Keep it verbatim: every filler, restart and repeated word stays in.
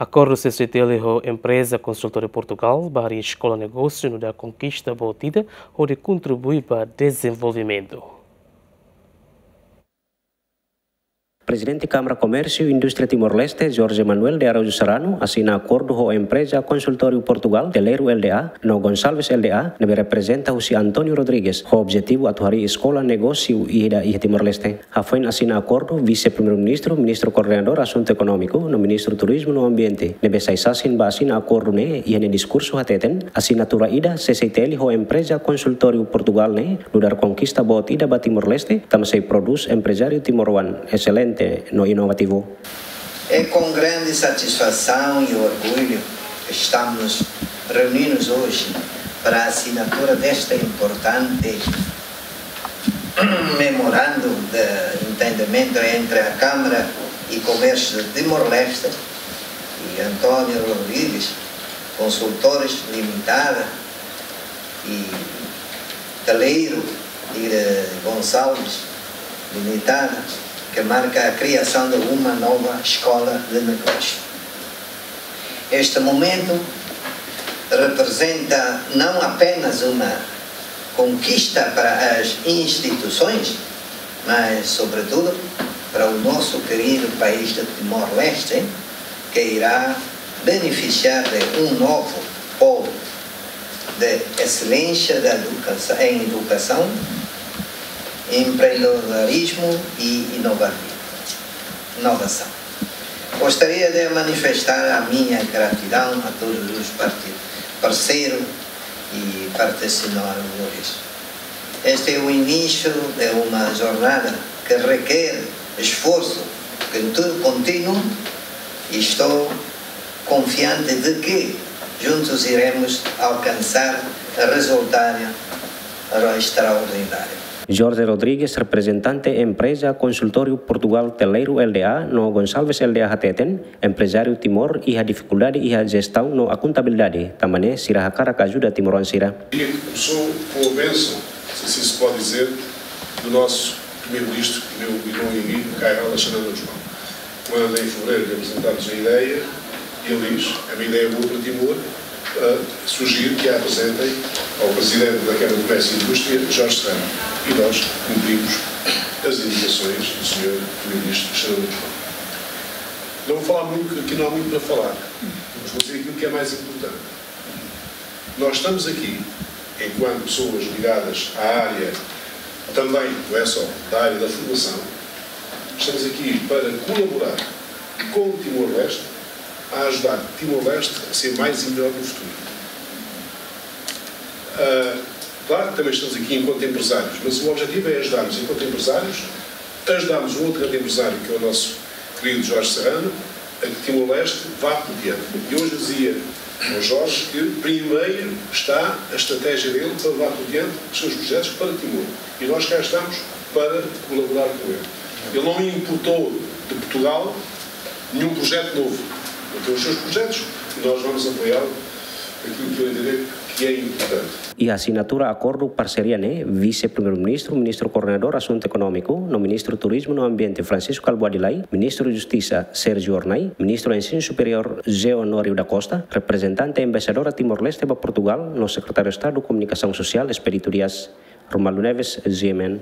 Akordu C C I T L ho empreza konsultóriu Portugál ba harii eskola negósiu nu'udar konkista boot ida hodi kontribui ba dezenvolvimentu. Prezidente Kámara Komérsiu Indústria Timor-Leste, Jorge Manuel de Araújo Serrano, asina akordu ho empreza konsultóriu Portugál, Teleiro L D A, no Gonçalves L D A, ne'ebé reprezenta husi António Rodrigues, ho objetivu atu harii eskola negósiu ida iha Timor-Leste. Hafoin asina akordu, Vise-Primeiru-Ministru, Ministru Koordenadór Asuntu Ekonómiku, no Ministru Turizmu no Ambiente, ne'ebé sai sasin ba asina akordu ne'e, iha nia diskursu hateten, asinatura ida C C I T L ho empreza konsultóriu Portugál ne'e, nu'udar konkista boot ida ba Timor-Leste, tanba sei prodús emprezáriu timoroan eselente no inovativu. É com grande satisfação e orgulho que estamos reunidos hoje para a assinatura desta importante memorando de entendimento entre a Câmara e Comércio de Timor-Leste e António Rodrigues Consultores Limitada e Teleiro e Gonçalves Limitada, que marca a criação de uma nova escola de negócio. Este momento representa não apenas uma conquista para as instituições, mas, sobretudo, para o nosso querido país de Timor-Leste, que irá beneficiar de um novo polo de excelência da educação, em educação, empreendedorismo e inovação. Gostaria de manifestar a minha gratidão a todos os parti-, parceiros e patrocinadores. Este é o início de uma jornada que requer esforço contu-, contínuo e estou confiante de que juntos iremos alcançar resultado extraordinário. Jorge Rodrigues, reprezentante empreza konsultóriu Portugál Teleiro L D A no Gonçalves L D A hateten, emprezáriu Timor iha difikuldade iha jestaun no akontabilidade, tanba ne'e sira hakarak ajuda timoroan sira. E começou com a bênção, se assim se pode dizer, do nosso primeiro-ministro, meu irmão e amigo, Kay Rala Xanana Gusmão. Quando, em fevereiro, lhe apresentámos a ideia, e ele diz: "É uma ideia boa para Timor, ah, sugiro que a apresentem ao presidente da Câmara de Comércio e Indústria, Jorge Serrano." E nós cumprimos as indicações do senhor primeiro-ministro Xanana Gusmão. Não vou falar muito, porque aqui não há muito para falar, mas vou dizer aquilo que é mais importante. Nós estamos aqui, enquanto pessoas ligadas à área, também, não é só, da área da formação, estamos aqui para colaborar com Timor-Leste a ajudar Timor-Leste a ser mais e melhor no futuro. Ah, claro que também estamos aqui enquanto empresários, mas o objetivo é ajudarmos enquanto empresários, ajudarmos um outro grande empresário, que é o nosso querido Jorge Serrano, a que Timor-Leste vá por diante. E hoje dizia ao Jorge que primeiro está a estratégia dele para levar por diante os seus projetos para Timor. E nós cá estamos para colaborar com ele. Ele não importou de Portugal nenhum projeto novo. Ele tem os seus projetos e nós vamos apoiá-lo naquilo que ele entender que é importante. Iha asinatura akordu parseria ne'e, Vise-Primeiru-Ministru, Ministru Koordenadór Asuntu Ekonómiku, no Ministru Turizmu no Ambiente, Francisco Kalbuadi Lay, Ministru Justisa, Sérgio Hornai, Ministru Ensinu Superiór, José Honório da Costa, reprezentante Embaixadora Timor-Leste ba Portugál, no Sekretáriu Estadu Komunikasaun Sosiál, Expedito Dias. Romualdo Neves, G M N.